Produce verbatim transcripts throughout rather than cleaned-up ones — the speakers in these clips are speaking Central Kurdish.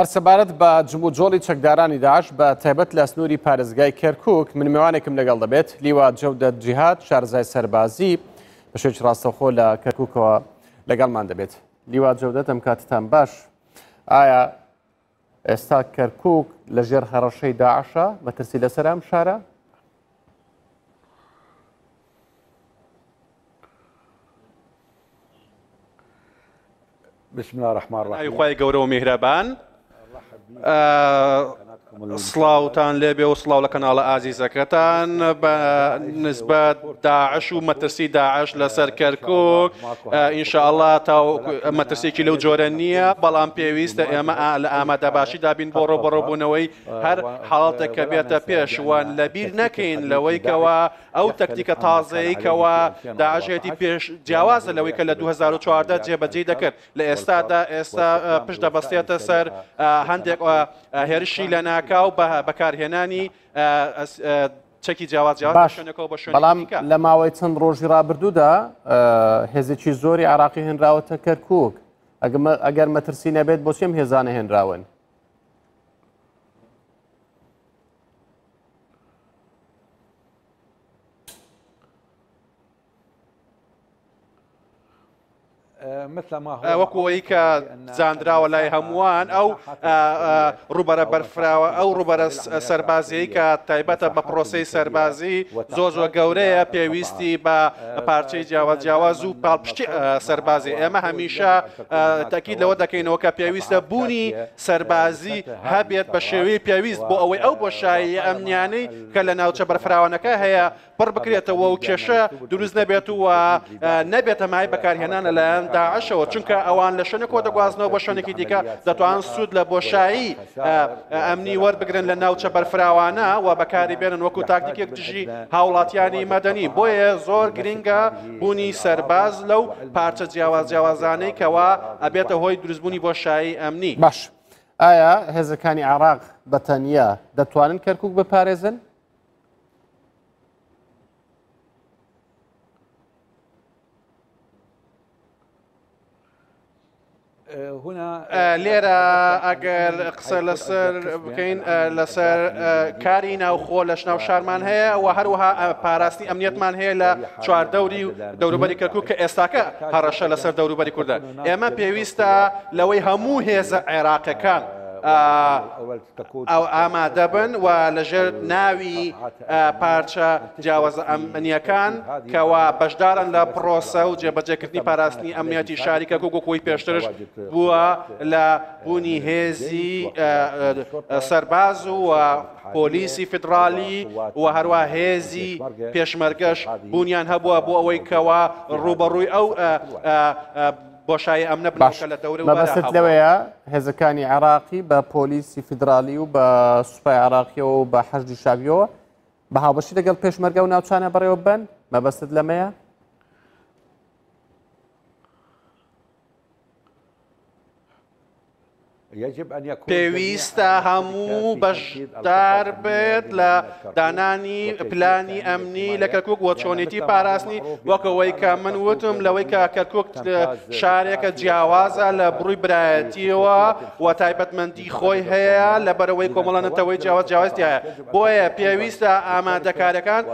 هەر سەبارەت بە جموجۆڵی چەکدارانی داعش بە تایبەت لە سنووری پارێزگای کەرکووک من میوانێکم لەگەڵ دەبێت، لیوا جەودەت جیهاد، شارەزای سەربازی بە شێوەیەکی ڕاستەوخۆ لە کەرکووکەوە لەگەڵمان دەبێت. لیوا جەودەت، ئەم کاتتان باش. ئایا ئێستا کەرکووک لەژێر هەڕەشەی داعشە؟ مەترسی لەسەر ئەم شارە؟ بسم الله الرحمن الرحیم. خوای گەورە و میهرەبان، سڵاوتان لێبێ و سڵاو لە کەناڵە ئازیزەکەتان. بە نسبەت داعش و مەترسی داعش لەسەر کەرکوک، ئینشاءڵڵا تا مەترسێکی لەو جۆرە نییە، بەڵام پێویستە ئێمە لە ئامادەباشی دابین بۆ ڕووبەڕووبوونەوەی هەر حاڵەتێک کە بێتە پێشوان. لەبیر نەکەین لەوەی کەوا ئەو تەکتیکە تازەیە کەوا داعشێتی پێش جیاوازە لەوەی کە لە دوو هەزار و چواردە جێبەجێی دەکرد. لە ئێستادا ئێستا پشت دەبەستێتە سەر هەندێک هێرشی لە ناکاو بە بەکارهێنانی چەکی جیاواز جیاواز شوێنەکەەوە بە شوێن. بەڵام لە ماوەی چەند ڕۆژی ڕابردوودا هێزێکی زۆری عراقی هێنراوەتە کەرکووک. ئەگەر مەترسی نەبێت بۆچی ئەم هێزانە هێنراون؟ وەکو ئەوەی کە زاندراوە لای هەمووان، ئەو ڕووبەرە بەرفراوە، ئەو ڕووبەرە سەربازیەی کە تایبەتە بە پرۆسەی سەربازی زۆر زۆر گەورەیە، پێویستی بە پارچەی جیاواز جیاواز و پاڵپشتی سەربازی. ئێمە هەمیشە تەکید لەوە دەکەینەوە کە پێویستە بوونی سەربازی هەبێت بە شێوەی پێویست بۆ ئەوەی ئەو بۆشایی ئەمنیانەی کە لە ناوچە بەرفراوانەکە هەیە پڕ بکرێتەوە و کێشە دروست نەبێت و نەبێتە مای بەکارهێنان لەلایەن داعشەوە، چونکە ئەوان لە شوێنێکەوە دەگوازنەوە بۆ شوێنێکی دیکە، دەتوانن سوود لە بۆشایی ئەمنی وەربگرن لە ناوچە بەرفراوانە و بەکاری بێنن وەکو تاکتیکێک دژی هاوڵاتیانی مەدەنی. بۆیە زۆر گرنگە بوونی سەرباز لەو پارچە جیاواز جیاوازانەی کەوا ئەبێتە هۆی دروستبوونی بۆشایی ئەمنی. باش، ئایا هێزەکانی عێراق بەتەنیا دەتوانن کەرکووک بپارێزن؟ لێرە ئەگەر قسە لەسەر بکەین لەسەر کاری ناوخۆ لە شناو شارمان هەیە و هەروەها پاراستنی ئەمنیەتمان هەیە لە چواردەوری و دەوروبەری کەرکوک کە ئێستاکە هەڕەشە لەسەر دەوروبەری کوردە. ئێمە پێویستە لەوەی هەموو هێزە عێراقەکان ئەو ئامادە بن و لەژێر ناوی پارچە جیاوازە ئەمنیەکان کەوا بەشدارن لە پرۆسە و جێبەجێکردنی پاراستنی ئەمنیەتی شاری کەرکوک وەکوی پێشترش بووە لە بوونی هێزی سەرباز و پۆلیسی فیدرالی و هەروە هێزی پێشمەرگەش بوونیان هەبووە بۆ ئەوەی کەوا ڕووبەڕووی ئەو بۆشایی ئەمنە بنەوە لە دەورە. مەبەستت لەوەیە هێزەکانی عێراقی بە پۆلیسی فیدرالی و بە سوپای عێراقیەوە و بە حەشدی شابیەوە بە هاوبەشی لەگەڵ پێشمەرگە و ناوچانە بەڕێوە ببەن؟ مەبەستت لەمەیە؟ پێویستە هەموو بەشدار بێت لە دانانی پلانی ئەمنی لە کەرکوک وە چۆنێتی پاراستنی، وەکەوەی کە من وتم لەوەی کە کەرکوک شارێکە جیاوازە لە بڕووی برایەتیەوە و تایبەتمەندی خۆی هەیە لەبەرەوەی کۆمەڵە نەتەوەی جیاواز جیاواز تیایە. بۆیە پێویستە ئامادەکارەکان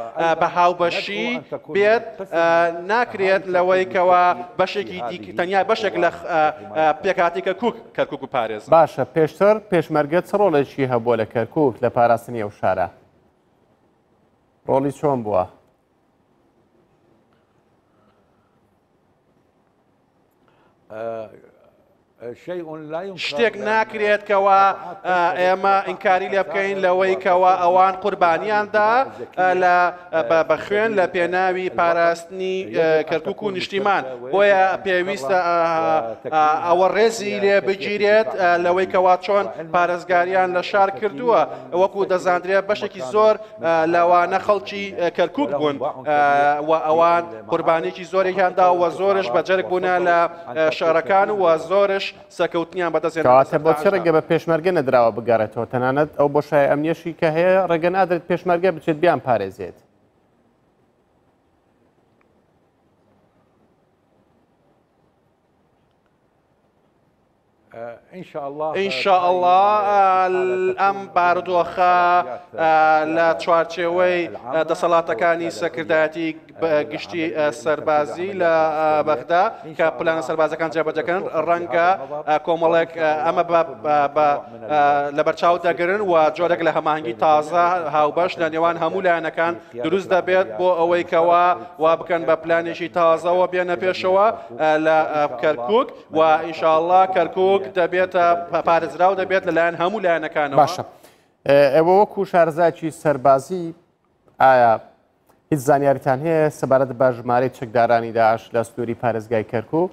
بە هاوبەشی بێت، ناکرێت لەوەی کەوا بەشێکی دیکە تەنیا بەشێک لە پێکهاتەی کەرکوک کەرکوک بپارێزن. باشە، پێشتر پێشمەرگە چ ڕۆڵێکی هەبووە لە کەرکوک لە پاراستنی ئەو شارە؟ ڕۆڵی چۆن بووە؟ شتێک ناکرێت کەوا ئێمە ئینکاری لێ بکەین لەوەی کەوا ئەوان قوربانیاندا بە خوێن لە پێناوی پاراستنی کەرکوک و نیشتیمان. بۆیە پێویستە ئەوە ڕێزی لێ بگیرێت لەوەی کەوا چۆن پارێزگاریان لە شار کردووە. وەکو دەزاندرێت بەشێکی زۆر لەوانە خەڵکی کەرکوک بوون و ئەوان قوربانیەکی زۆرێکیاندا و زۆرش بەجەرگ بوونە لە شارەکان و زۆرش سەرکەوتنیان بەدەستهێنا. کەواتە بۆچی ڕێگە بە پێشمەرگە نەدراوە بگەڕێتەوە؟ تەنانەت ئەو بۆشای ئەمنیەشی کە هەیە ڕێگە نادرێت پێشمەرگە بچێت بیان پارێزێت. إن شاء الله ئەم بارودۆخە لە چوارچێوەی دەسەڵاتەکانی سەرکردایەتی گشتی سەربازی لە بەغدا کە پلانە سەربازەکان جێبەجێکردن ڕەنگە کۆمەڵێک ئەمە لەبەرچاو دەگرن و جۆرێک لە هەماهەنگی تازە هاوبەش لە نێوان هەموو لایەنەکان دروست دەبێت بۆ ئەوەی کەوا وا بکەن بە پلانێکی تازەوە بێنە پێشەوە لە کەرکک و ئینشاءڵڵا کەرکک دەبێتە پارێزراو دەبێت لەلایەن هەموو لایەنەکانەوە. باشە، ئێوە وەکو شارەزایەکی سەربازی ئایا هیچ زانیاریتان هەیە سەبارەت بە ژمارەی چەکدارانی داعش لە سنووری پارێزگای کەرکک؟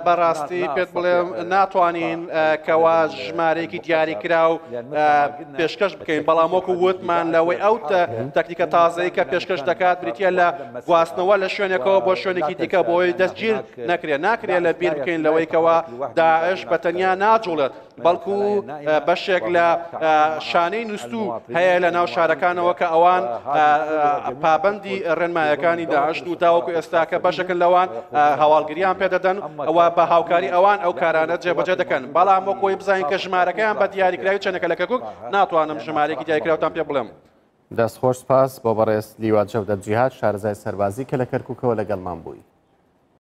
بەڕاستی پێت بڵێم ناتوانین کەوا ژمارەیەکی دیاریکراو پێشکەش بکەین، بەڵام وەکو وتمان لەوەی ئەو تەکنیکە تازەی کە پێشکەش دەکات بریتە لە گواستنەوە لە شوێنێکەوە بۆ شوێنێکی دیکە بۆی دەستگیر نەکرێت. ناکرێت لە بیر بکەین لەوەی کەوا داعش بە تەنیا ناجوڵێت، بەڵکو بەشێک لە شانەی نووسو هەیە لە ناو شارەکانەوە کە ئەوان پابەندی ڕێنمایەکانی داعش و تاوەکو ئێستاکە بەشێکن لەوان هەواڵگریان پێدەدەن ئەوە بە هاوکاری ئەوان ئەو کارانە جێبەجێ دەکەن. بەڵام وەک خۆی بزانین کە ژمارەکەیان بە دیاریکراوی چەندەکە لە کەرکوک ناتوانم ژمارەیەکی دیاریکراوتان پێ بڵێم. دەستخۆش سپاس بۆ بەڕێز لیوا جەودەت جیهاد شارەزای سەربازی کە لە کەرکوکەوە لەگەڵمان بووی.